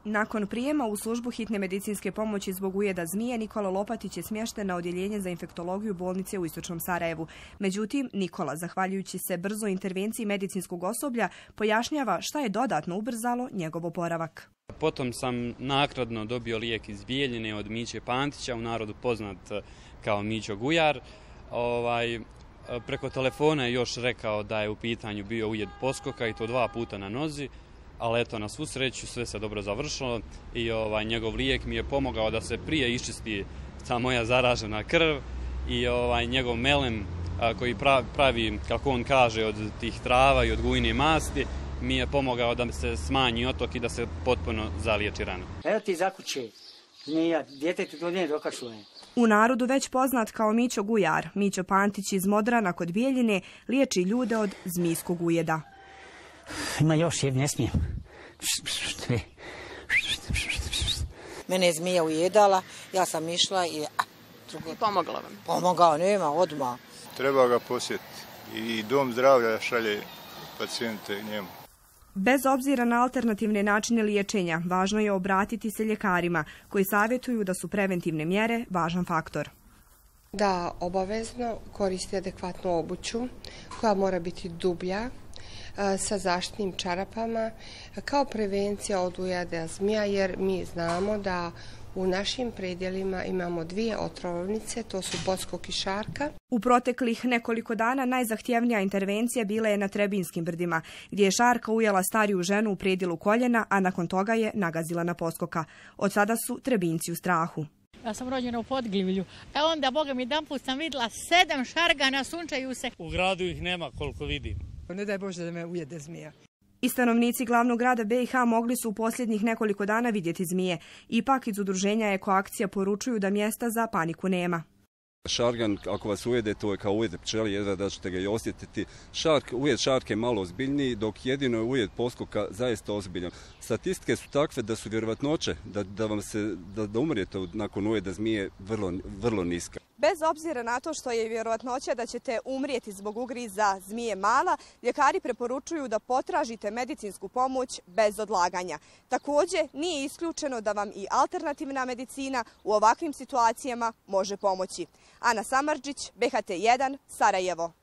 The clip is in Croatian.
Nakon prijema u službu hitne medicinske pomoći zbog ujeda zmije, Nikola Lopatić je smješten na odjeljenje za infektologiju bolnice u Istočnom Sarajevu. Međutim, Nikola, zahvaljujući se brzoj intervenciji medicinskog osoblja, pojašnjava šta je dodatno ubrzalo njegov oporavak. Potom sam naknadno dobio lijek iz Bijeljine od Miće Pantića, u narodu poznat kao Mićo Gujar. Preko telefona je još rekao da je u pitanju bio ujed poskoka i to 2 puta na nozi, ali eto, na svu sreću sve se dobro završilo i njegov lijek mi je pomogao da se prije iščisti ta moja zaražena krv i njegov melem koji pravi, kako on kaže, od tih trava i od gujine masti, mi je pomogao da se smanji otok i da se potpuno zaliječi rana. Evo ti za kuće, zmija, djetetu to nije dokašljuje. U narodu već poznat kao Mićo Gujar, Mićo Pantić iz Modrana kod Bijeljine liječi ljude od zmijskog ujeda. Ima još, ne smijem. Mene je zmija ujedala, ja sam išla i... Pomogla vam? Pomogao, nema, odmah. Treba ga posjetiti i dom zdravlja šalje pacijente njemu. Bez obzira na alternativne načine liječenja, važno je obratiti se ljekarima koji savjetuju da su preventivne mjere važan faktor. Da obavezno koristi adekvatnu obuću koja mora biti dublja, sa zaštitnim čarapama kao prevencija od ujeda zmija, jer mi znamo da u našim predjelima imamo 2 otrovnice, to su poskok i šarka. U proteklih nekoliko dana najzahtjevnija intervencija bila je na Trebinskim brdima, gdje je šarka ujela stariju ženu u predjelu koljena, a nakon toga je nagazila na poskoka. Od sada su Trebinci u strahu. Ja sam rođena u Podgljivlju, a onda, Boga mi, jedanput sam vidjela 7 šargana, sunčaju se. U gradu ih nema koliko vidim. Ne daj Bože da me ujede zmija. I stanovnici glavnog grada BiH mogli su u posljednjih nekoliko dana vidjeti zmije. Ipak iz udruženja Ekoakcija poručuju da mjesta za paniku nema. Šargan, ako vas ujede, to je kao ujed pčeli, jedva da ćete ga i osjetiti. Ujed šarke je malo ozbiljniji, dok jedino je ujed poskoka zaista ozbiljan. Statistike su takve da su vjerovatnoće da umrijete nakon ujeda zmije vrlo niska. Bez obzira na to što je vjerovatnoća da ćete umrijeti zbog ugriza zmije mala, ljekari preporučuju da potražite medicinsku pomoć bez odlaganja. Također, nije isključeno da vam i alternativna medicina u ovakvim situacijama može pomoći. Ana Samardžić, BHT1, Sarajevo.